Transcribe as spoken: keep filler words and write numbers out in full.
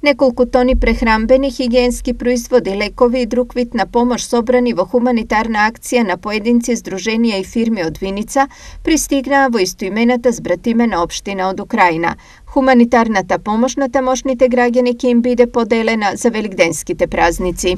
Неколку тони прехранбени, хигиенски производи, лекови и друг вид на помош собрани во хуманитарна акција на поединци, здруженија и фирми од Виница пристигнаа во истоимената збратимена општина од Украина. Хуманитарната помош на тамошните граѓани ќе им биде поделена за великденските празници.